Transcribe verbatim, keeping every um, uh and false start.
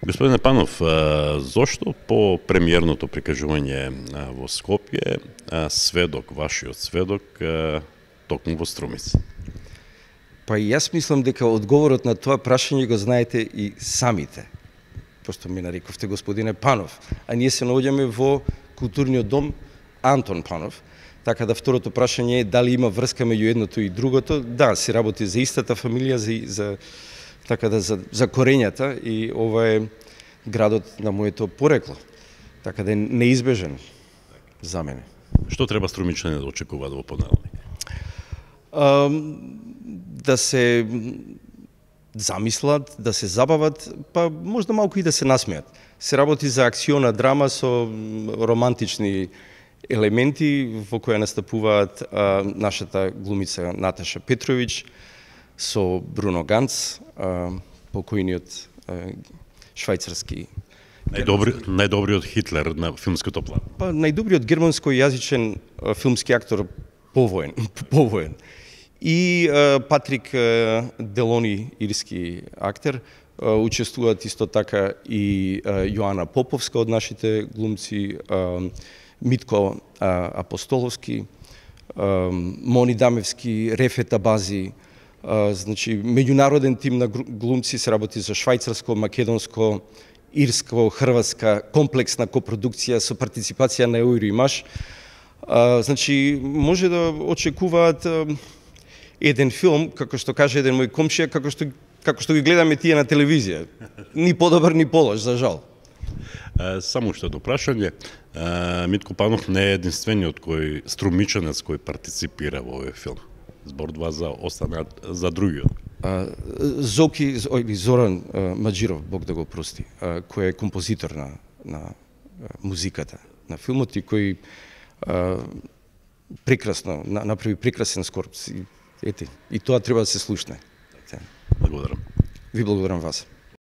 Господине Панов, зошто по премиерното прикажување во Скопје сведок, вашиот сведок, токму во Струмица? Па и јас мислам дека одговорот на тоа прашање го знаете и самите. Просто ми нарековте господине Панов, а ние се наоѓаме во културниот дом Антон Панов. Така да второто прашање е дали има врска меѓу едното и другото. Да, се работи за истата фамилија, за, за така да за, за корењата, и ова е градот на моето порекло. Така да е неизбежен за мене. Што треба струмичани да очекуваат во понеделник? А, да се замислат, да се забават, па можда малку и да се насмеат. Се работи за акциона драма со романтични елементи во која настапуваат а, нашата глумица Наташа Петрович со Бруно Ганц, а, покојниот а, швајцарски Најдобри, најдобриот Хитлер на филмското план. Па најдобриот германско-јазичен а, филмски актор повоен, повоен. И а, Патрик а, Делони, ирски актер, а, учествуваат исто така и а, Јоана Поповска од нашите глумци, а, Митко а, Апостоловски, а, Мони Дамевски, Рефет Абази, а, значи меѓународен тим на глумци, се работи за швајцарско, македонско, ирско, хрватска комплексна копродукција со партиципација на Евроимаш. А, значи може да очекуваат а, еден филм, како што каже еден мој комшија, како што како што ги гледаме тие на телевизија. Ни подобар, ни полош, за жал. Само уште едно прашање. Митко Панов не е единствениот кој струмичанец кој партиципира во овој филм. Зборува за останат за другиот. Зоки, ој Зоран Маџиров, Бог да го прости, кој е композитор на на музиката на филмот и кој прекрасно направи прекрасен скор. Ете, и тоа треба да се слушне. Благодарам. Ви благодарам вас.